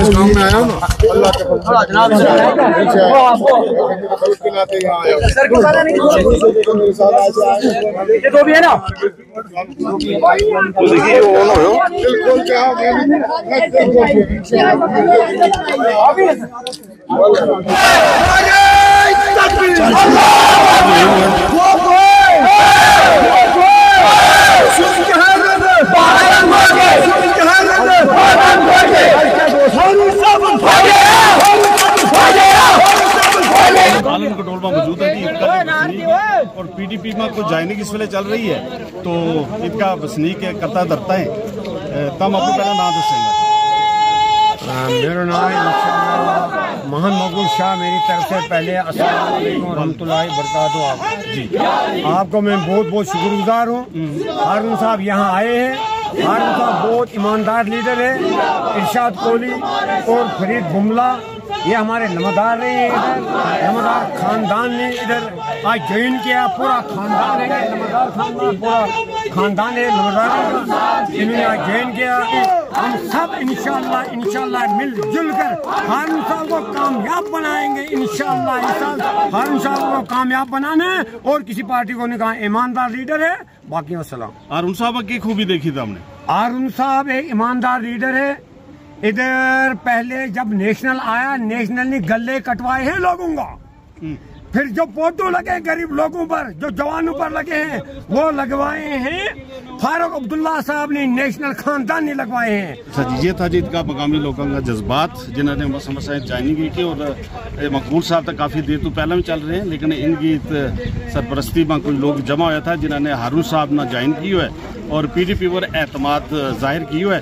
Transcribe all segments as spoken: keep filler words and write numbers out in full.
اس گاؤں میں آیا ہوں نا، اللہ کے فضل سے۔ ملک کے ناطے یہاں آیا ہوں۔ یہ تو بھی ہے نا۔ بالکل، کیا؟ عالم کڈول ما موجود ہے جی، اور پی ڈی پی ما کچھ جائننگ اس ویلے چل رہی ہے، تو ات کا وسنیک کرتا دھرتا ہے۔ تم اپنا پہلا نام دسیں گا؟ میرا نام ہے محمد مقبول شاہ۔ میری طرف سے پہلے السلام علیکم ورحمۃ اللہ وبرکاتہ۔ آپ کو میں بہت بہت شکر گزار ہوں۔ ہارون صاحب یہاں آئے ہیں۔ ہارون صاحب بہت ایماندار لیڈر ہے۔ ارشاد کوہلی اور فرید بملہ، یہ ہمارے نمدار رہے ہیں ادھر، نمدار خاندان نے ادھر آج جوائن کیا، پورا خاندان ہے، نمدار خاندان، پورا خاندان ہے نمدار کا، انہوں نے آج جوائن کیا۔ ہم سب انشاءاللہ، انشاءاللہ مل جل کر ہارون صاحب کو کامیاب بنائیں گے، انشاءاللہ۔ ہارون صاحب کو کامیاب بنانا ہے اور کسی پارٹی کو نہیں کہا، ایماندار لیڈر ہے۔ باقی والسلام۔ ہارون صاحب کی خوبی دیکھی تھا ہم نے؟ ہارون صاحب ایک ایماندار لیڈر ہے۔ ادھر پہلے جب نیشنل آیا، نیشنل نے گلے کٹوائے ہیں لوگوں کا۔ پھر جو فوٹو لگے غریب لوگوں پر، جو جوانوں پر لگے ہیں، وہ لگوائے ہیں فاروق عبداللہ صاحب نے، نیشنل خاندان نے لگوائے ہیں۔ اچھا جی، یہ تھا جی ات کا مقامی لوگوں کا جذبات، جنہوں نے مسا مسا جوائننگ کی تھی۔ اور مقبول صاحب تو کافی دیر تو پہلے بھی چل رہے ہیں، لیکن ان کی سرپرستی ما کچھ لوگ جمع ہویا تھا، جنہوں نے ہارون صاحب نا جوائن کیو ہے اور پی ڈی پی پر اعتماد ظاہر کیو ہے۔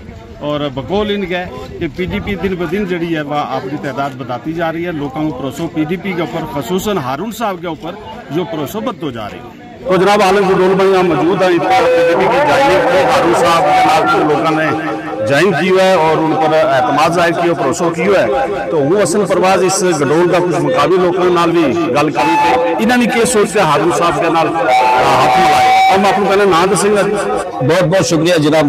اور بقول ان کے کہ پی ڈی پی دن بہ دن جڑی ہے وہ اپنی تعداد بتاتی جا رہی ہے، لوگوں کو بھروسو پی ڈی پی کے اوپر، خصوصاً ہارون صاحب کے اوپر جو بھروسو بدھو جا رہی ہے۔ تو جناب، عالم کڈول بھائی یہاں موجود ہیں، ات کا پی ڈی پی کی جوائننگ کو ہارون صاحب کے نال کچھ لوگوں نے جوائن کیو ہے اور ان پر اعتماد ظاہر کیو، بھروسو کیو ہے۔ تو ہوں حسن پرواز اس گڈول کا کچھ مقامی لوگوں نال بھی گل کروں کہ انہاں نے کی سوچ کے ہارون صاحب کے نال ہاتھ ملائے۔ ہم آپ کو پہلے نام دسیں گے۔ بہت بہت شکریہ جناب،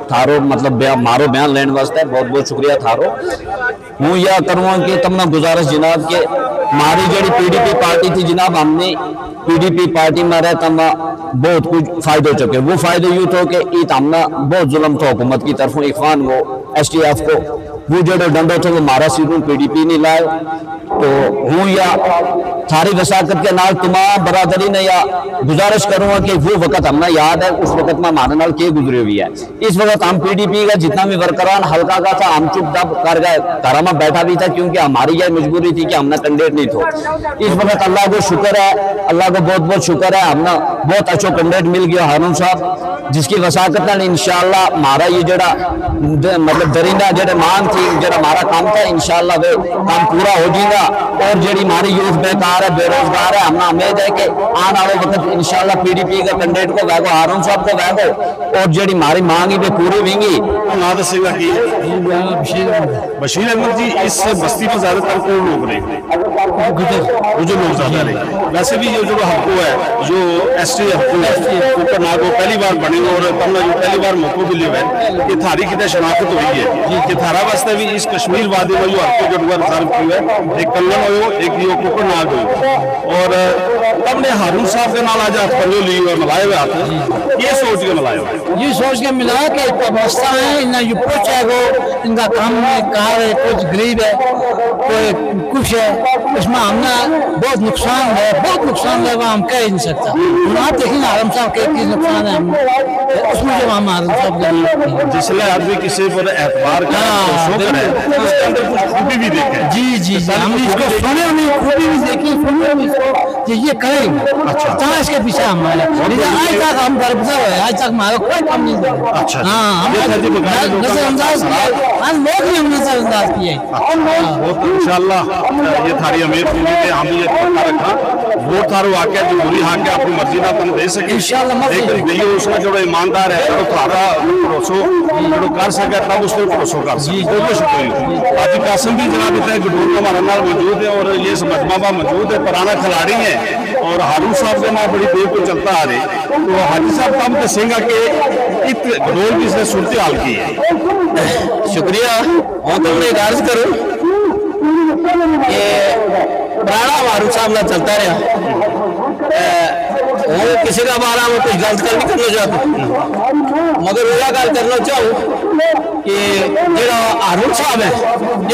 تھارو مطلب مارو بیان لین واسطے بہت بہت شکریہ تھارو۔ ہوں یا کروں ہاں کہ تم نا گزارش جناب کہ ماری جیڑی پی ڈی پی پارٹی تھی جناب، ہم نے پی ڈی پی پارٹی ما رہتا ما بہت کچھ فائدو چکے۔ وہ فائدو یوں تھو کہ ات ہم نا بہت ظلم تھو حکومت کی طرفوں، ایخوان کو، ایس ٹی ایف کو، وہ جیڑو ڈنڈو تھو وہ مارا سیدھوں پی ڈی پی نے لائے۔ تو ہوں یا تھاری وساقت کے نال تمام برادری نے یا گزارش کروں ہاں کہ وہ وقت ہم نا یاد ہے، اس وقت ما مارے نال کے گزری ہوئی ہے۔ اس وقت ہم پی ڈی پی کا جتنا بھی ورکران حلقہ کا تھا، ہم چپ دب کر گئے، گھر ما بیٹھا بھی تھا، کیونکہ ہماری یہ مجبوری تھی کہ ہم نا کنڈیٹ نہیں تھو۔ اس وقت اللہ کو شکر ہے، اللہ کو بہت بہت شکر ہے، ہم نا بہت اچھو کنڈیٹ مل گیا ہارون صاحب، جس کی وساقت نال انشاءاللہ ہمارا یہ جڑا مطلب درینہ جڑے مانگ تھی، جڑا ہمارا کام تھا، انشاءاللہ وہ کام پورا ہو جائے گا۔ اور جڑی ہماری یوتھ بیکار ہے، بے روزگار ہے، ہم نا امید ہے کہ آن آلو وقت انشاءاللہ پی ڈی پی کا کنڈیٹ کو ویگو، ہارون صاحب کو ویگو، اور جیڑی ماری مانگ ہی پوری ہوئیں گی۔ نہ دسے گا کہ بشیر احمد جی، اس بستی پر زیادہ تر کون لوگ رہے؟ گجر لوگ زیادہ رہے۔ ویسے بھی یہ جو حلقو ہے، جو ایس ٹی حلقو ہے، اوپر ناگو پہلی بار بنے اور تم نے جو پہلی بار موقع بھی لیو ہے کہ تھاری کتنے شناخت ہوئی ہے کہ تھارا واسطے بھی اس کشمیر وادی میں جو حلقو جو ریزرو کیو ہے، ایک کنگن ہوئے ہو، ایک یہ کوکر ناگ ہوئے ہو۔ اور تم نے ہارون صاحب کے نال آج ہاتھ پنجو لی اور ملائے ہوئے ہاتھ، یہ سوچ کے ملائے ہوئے؟ یہ سوچ کے ملا کہ اتنا مسئلہ ہے، انہاں یہ پوچھے گو، ان کا کام میں کار ہے، کچھ غریب ہے، کوئی کچھ ہے، اس میں ہم نے بہت نقصان ہے، بہت نقصان ہے، وہ ہم کہہ نہیں سکتا۔ ہم آپ دیکھیں گے ہارون صاحب کے کس نقصان ہے، ہم اس میں جو ہم ہارون صاحب کے جس لے آدمی کسی پر اعتبار کا، ہاں، بھروسہ کرے، اس کے اندر کچھ خوبی بھی دیکھے۔ جی جی جی، ہم نے اس کو سنے، ہم نے خوبی بھی دیکھی، سنی ہم نے اس کو کہ یہ کریں گے۔ اچھا۔ تاں اس کے پیچھے ہم آئے۔ لیکن آج تک ہم برگزار ہوئے، آج تک ہمارا کوئی کم نہیں ہوا۔ اچھا۔ ہاں، ہم نظر انداز کیا، ہم لوگ بھی ہم نظر انداز کیے۔ ہاں۔ بہت انشاءاللہ یہ تھاری امید پوری ہے، ہم یہ پکا رکھا۔ ووٹ تھارو آ کے جمہوری حق ہے، اپنی مرضی نال تم دے سکے۔ انشاءاللہ، مرضی لیکن دیو اس کا جو ایماندار ہے، جو تھارا بھروسو جو کر سکے، تب اس پر بھروسو کر سکے۔ جی۔ بہت بہت شکریہ۔ حاجی قاسم بھی جناب اتنے گڈور کا ہمارے نال موجود ہے اور یہ اس مجمع ما موجود ہے، پرانا کھلاڑی ہے اور ہارون صاحب کے نال بڑی دیر کو چلتا آ رہے۔ تو حاجی صاحب، تم دسیں گا کہ ات گڈور کی اس نے صورتحال کی ہے؟ شکریہ۔ ہوں تو میں ایک عرض کروں کہ پرانا معروف صاحب نہ چلتا رہیا۔ اے، ہوں کسی کا بارہ میں کچھ غلط کر نہیں کرنا چاہتا، مگر وہ گل کرنا چاہوں کہ جڑا ہارون صاحب ہے،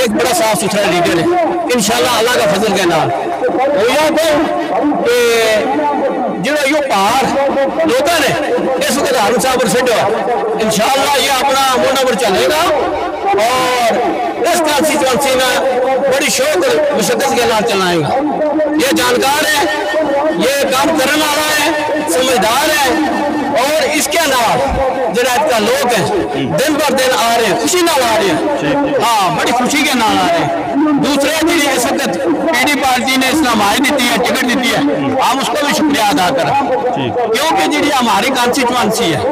ایک بڑا صاف ستھرا لیڈر ہے۔ انشاءاللہ اللہ کا فضل کے نال وہ یہ کہوں کہ جڑا یوہ پہاڑ لوکاں نے اس وقت ہارون صاحب پر سٹیا، انشاءاللہ یہ اپنا منڈا پر چلے گا اور اس کانسٹیچوئنسی میں بڑی شوق اور مشقت کے نال چلائے گا۔ یہ جانکار ہے، یہ کام کرنے والا ہے، سمجھدار ہے، اور اس کے نال جڑا اتنا لوگ ہیں، دن پر دن آ رہے ہیں، خوشی نال آ رہے ہیں۔ ہاں، بڑی خوشی کے نال آ رہے ہیں۔ دوسرے جڑی اس وقت پی ڈی پارٹی نے اس نال ہماری دیتی ہے، ٹکٹ دیتی ہے، ہم اس کو بھی شکریہ ادا کریں، کیونکہ جڑی ہماری کانسٹیچوئنسی ہے،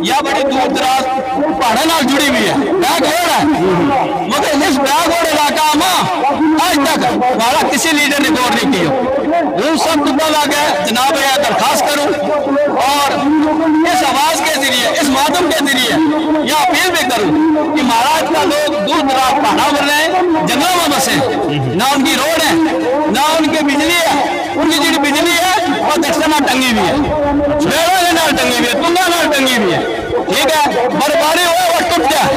یا بڑی دور دراز پہاڑاں نال جڑی ہوئی ہے، بیک ورڈ ہے، مگر اس بیک ورڈ علاقہ ما اج تک ہمارا کسی لیڈر نے غور نہیں کیا۔ ہوں سب تو پہلا کہ جناب یہ درخواست کروں اور اس آواز کے ذریعے، اس مادھیم کے ذریعے یہ اپیل بھی کروں کہ مہاراج کا لوگ دور دراز پہاڑاں پر رہے، جنگلاں میں بسے، نہ ان کی روڈ ہے، نہ ان کی بجلی ہے، ان کی جڑی بجلی ہے وہ دکشنا ٹنگی ہوئی ہے، بیڑا کے نال ٹنگی ہوئی ہے، تنگا نال ٹنگی ہوئی ہے۔ ٹھیک ہے، برفباری ہوئے وہ ٹوٹ جائے،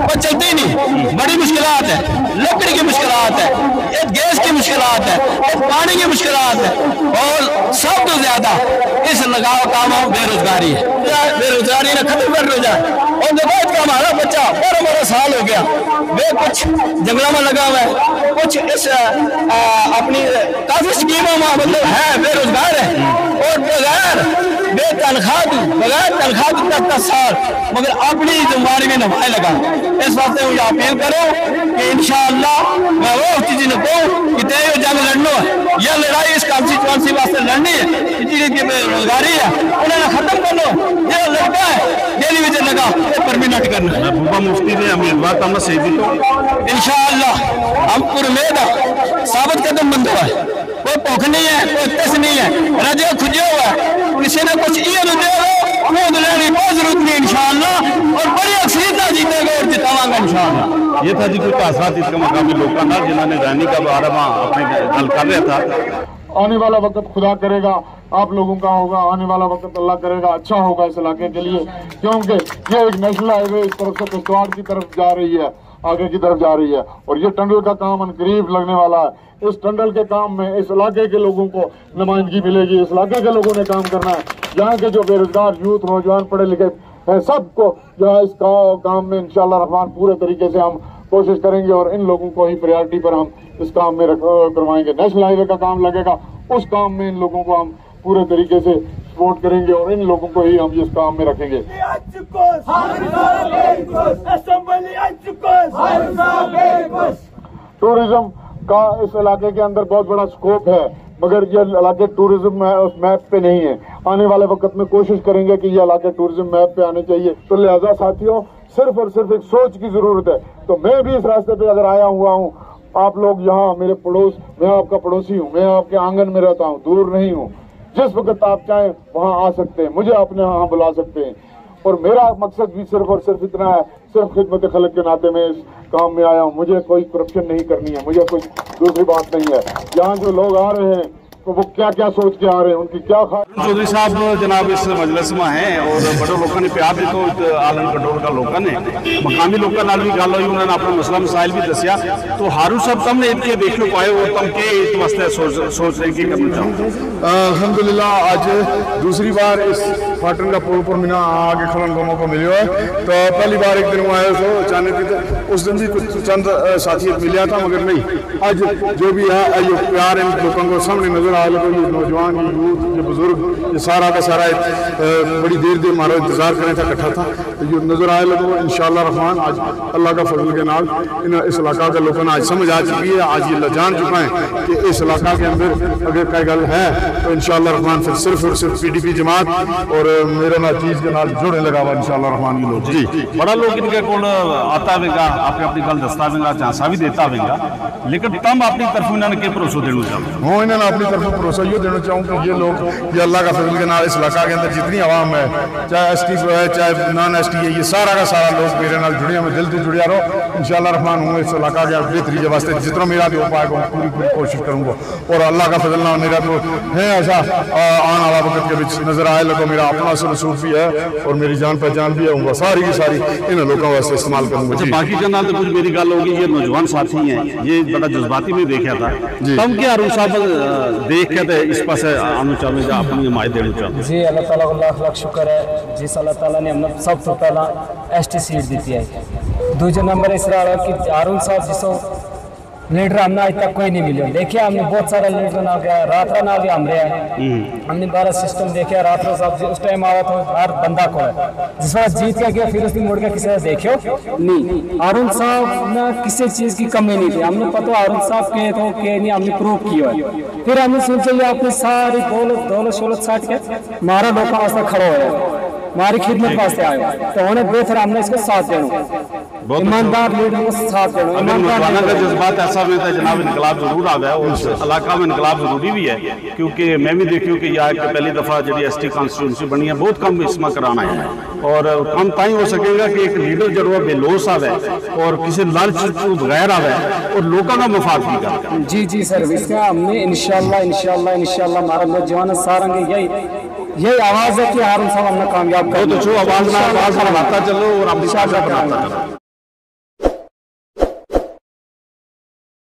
وہ چلتی نہیں، بڑی مشکلات ہے، لکڑی کی مشکلات ہے، ایک گیس کی مشکلات ہے، ایک پانی کی مشکلات ہے، اور سب تو زیادہ اس لگاؤ کام بے روزگاری ہے۔ بے روزگاری نے ختم کر لو جائے۔ اور دیکھو، اس کا ہمارا بچہ بارہ بارہ سال ہو گیا، وہ کچھ جنگلوں میں لگا ہوا ہے، کچھ اس آ، اپنی کافی سکیموں ما مطلب ہے، بے روزگار ہے، اور بغیر بے تنخواہ تو، بغیر تنخواہ تو دس دس سال، مگر اپنی ذمہ داری میں نبھائے لگا۔ اس واسطے ہوں یہ اپیل کروں کہ انشاءاللہ میں وہ چیزیں نہ کہوں کہ تے یہ جنگ لڑنو ہے، یہ لڑائی اس کانسٹیچوئنسی واسطے لڑنی ہے کہ جڑی کہ بے روزگاری ہے، انہاں نا ختم کرنو۔ یہ لڑکا ہے، جیلی وچ لگا، وہ پرمیننٹ کرنا ہے۔ محبوبہ مفتی نے امیدوار تم سیدی تو انشاءاللہ ہم پر امید ہے، ثابت قدم بندو ہے۔ کوئی بھوک نہیں ہے، کوئی تس نہیں ہے، رجے کھجے ہوا ہے۔ کسی نے کچھ یہ نہ دے ہو، وہ تو لینے کی کوئی ضرورت نہیں انشاءاللہ، اور بڑی اکثریت نہ جیتے گا اور جتاواں گا انشاءاللہ۔ یہ تھا جی کچھ تاثرات اس کے مقامی لوگوں کا، جنہوں نے رانی کا بارہ ماہ اپنے گل کر رہا تھا۔ آنے والا وقت خدا کرے گا آپ لوگوں کا ہوگا، آنے والا وقت اللہ کرے گا اچھا ہوگا اس علاقے کے لیے، کیونکہ یہ ایک نیشنل ہائی وے اس طرف سے کشتواڑ کی طرف جا رہی ہے، آگے کی طرف جا رہی ہے، اور یہ ٹنل کا کام عنقریب لگنے والا ہے۔ اس ٹنل کے کام میں اس علاقے کے لوگوں کو نمائندگی ملے گی، اس علاقے کے لوگوں نے کام کرنا ہے۔ یہاں کے جو بے روزگار یوتھ، نوجوان، پڑھے لکھے ہیں، سب کو یہاں اس کا-، کام میں انشاءاللہ الرحمن پورے طریقے سے ہم کوشش کریں گے اور ان لوگوں کو ہی پرائیورٹی پر ہم اس کام میں رکھ-، کروائیں گے۔ نیشنل ہائی وے کا کام لگے گا، اس کام میں ان لوگوں کو ہم پورے طریقے سے سپورٹ کریں گے اور ان لوگوں کو ہی ہم اس کام میں رکھیں گے۔ اسمبلی اسمبلی ٹورازم کا اس علاقے کے اندر بہت بڑا سکوپ ہے، مگر یہ علاقے ٹورازم میں اس میپ پہ نہیں ہے۔ آنے والے وقت میں کوشش کریں گے کہ یہ علاقے ٹورازم میپ پہ آنے چاہیے۔ تو لہذا ساتھیوں، صرف اور صرف ایک سوچ کی ضرورت ہے۔ تو میں بھی اس راستے پہ اگر آیا ہوا ہوں، آپ لوگ یہاں میرے پڑوس، میں آپ کا پڑوسی ہوں، میں آپ کے آنگن میں رہتا ہوں، دور نہیں ہوں۔ جس وقت آپ چاہیں وہاں آ سکتے ہیں، مجھے اپنے ہاں بلا سکتے ہیں۔ اور میرا مقصد بھی صرف اور صرف اتنا ہے، صرف خدمت خلق کے ناطے میں اس کام میں آیا ہوں۔ مجھے کوئی کرپشن نہیں کرنی ہے، مجھے کوئی دوسری بات نہیں ہے۔ یہاں جو لوگ آ رہے ہیں تو وہ کیا کیا سوچ کے آ رہے ہیں، ان کی کیا خواہش؟ چوہدری صاحب جناب اس مجلس ما ہیں اور بڑے لوکاں نے پیار دیتا ہوں، آلن کنٹرول کا لوکاں نے مقامی لوکاں نال بھی گل ہوئی، انہوں نے اپنا مسئلہ مسائل بھی دسیا۔ تو ہارون صاحب، تم نے اتنے دیکھ لو پائے اور تم کے اس واسطے سوچ سوچ رہے ہیں کہ کرنا چاہو؟ الحمدللہ، اج دوسری بار اس پاٹن کا پل پر مینا آ کے کھلن کا موقع ملیو ہے۔ تو پہلی بار ایک دن وہ آیا تو اچانک ہی تو اس دن بھی کچھ چند ساتھی ملیا تھا، مگر نہیں، اج جو بھی ہے، یہ پیار ان لوکاں کو سامنے نظر آیا لگو، یہ نوجوان، یہ یوتھ، یہ بزرگ، یہ سارا کا سارا ایک بڑی دیر دیر مارا انتظار کریں تھا، اکٹھا تھا۔ تو یہ نظر آیا لگو، انشاءاللہ الرحمن اج اللہ کا فضل کے نال ان اس علاقہ کے لوکاں نا اج سمجھ آ چکی ہے، اج یہ لجان چکا ہے کہ اس علاقہ کے اندر اگر کوئی گل ہے تو انشاءاللہ الرحمن پھر صرف اور صرف پی ڈی پی جماعت اور میرا نا چیز کے نال جڑنے لگا ہوا انشاءاللہ الرحمن یہ لوگ۔ جی۔ بڑا لوگ ان کے کول آتا ہوئے گا، آپ نے اپنی گل دستا ہوئے گا، جھانسا بھی دیتا ہوئے گا، لیکن تم اپنی طرفوں انہاں نے کے بھروسو دینا چاہتے ہو؟ ہوں، انہاں نے اپنی طرف بھروسہ یوہ دینا چاہوں کہ یہ لوگ، یہ اللہ کا فضل کے نال اس علاقہ کے اندر جتنی عوام ہے، چاہے ایس ٹی ہے، چاہے نان ایس ٹی ہے، یہ سارا کا سارا لوگ میرے نال جڑیا، میں دل سے جڑیا رہو۔ انشاءاللہ الرحمن ہوں اس علاقہ کے بہتری کے واسطے جتنا میرا بھی ہو پائے گا، پوری پوری کوشش کروں گا۔ اور اللہ کا فضل نال میرا تو ہے ایسا آن آلا وقت کے بچ نظر آئے لگو، میرا اپنا سر سوٹ بھی ہے اور میری جان پہچان بھی ہے، ہوں ساری کی ساری انہاں لوکاں واسطے استعمال کروں گا۔ اچھا، باقی جناب تو کچھ میری گل ہوگی، یہ نوجوان ساتھی ہیں، یہ بڑا جذباتی میں دیکھا تھا۔ جی۔ تم کیا ہارون صاحب دیکھ کے تے اس پاسے آنو چاہتے ہیں یا اپنی حمایت دینا چاہتے ہیں؟ جی، اللہ تعالیٰ کو لاکھ لاکھ شکر ہے، جس اللہ تعالیٰ نے ہم نے سب تو پہلا ایس ٹی سیٹ دیتی ہے۔ دوجے نمبر اس طرح کہ ہارون صاحب جسو لیڈر ہم نے اج تک کوئی نہیں ملیو۔ دیکھیا ہم نے بہت سارا لیڈر نال گیا، رات را نال بھی ہم رہیا ہے۔ ہم نے بارہ سسٹم دیکھیا، رات را صاحب جی اس ٹائم آیا تو ہر بندہ کو ہے، جس وقت جیت کے گیا پھر اس نے مڑ کے کسی نے دیکھیو نہیں۔ ہارون صاحب نا کسی چیز کی کمی نہیں تھی، ہم نے پتو ہارون صاحب کے تو کے نہیں، ہم نے پروف کیا ہے۔ پھر ہم نے سوچا یہ اپنی ساری دولت دولت شولت سٹ کے مارا لوکاں واسطے کھڑا ہویا، ماری خدمت واسطے آیا، تو انہیں بہتر ہم نے اس کو ساتھ دینا۔ بہت اچھا۔ ایماندار لیڈر کو ساتھ دینا، اگر ایماندار نوجوانوں کا لیڈر۔ جذبات ایسا ہوئے تو جناب انقلاب ضرور آ گیا اور اس علاقہ میں انقلاب ضروری بھی ہے، کیونکہ میں بھی دیکھیوں کہ یہاں ایک پہلی دفعہ جڑی ایس ٹی کانسٹیٹوئنسی بنی ہے، بہت کم اس میں کرانا ہے اور کم تاں ہی ہو سکے گا کہ ایک لیڈر جڑو بے لوس آوے اور کسی لالچ تو بغیر آوے اور لوکاں کا مفاد بھی کرے۔ جی جی سر، اس کا ہم نے انشاءاللہ انشاءاللہ انشاءاللہ ہمارا نوجوان سارا کے یہی یہی آواز ہے کہ ہارون صاحب ہم نے کامیاب کرنا ہے۔ بہت اچھو آواز نہ آواز بڑھاتا چلو اور اپنی انشاءاللہ بڑھاتا چلو۔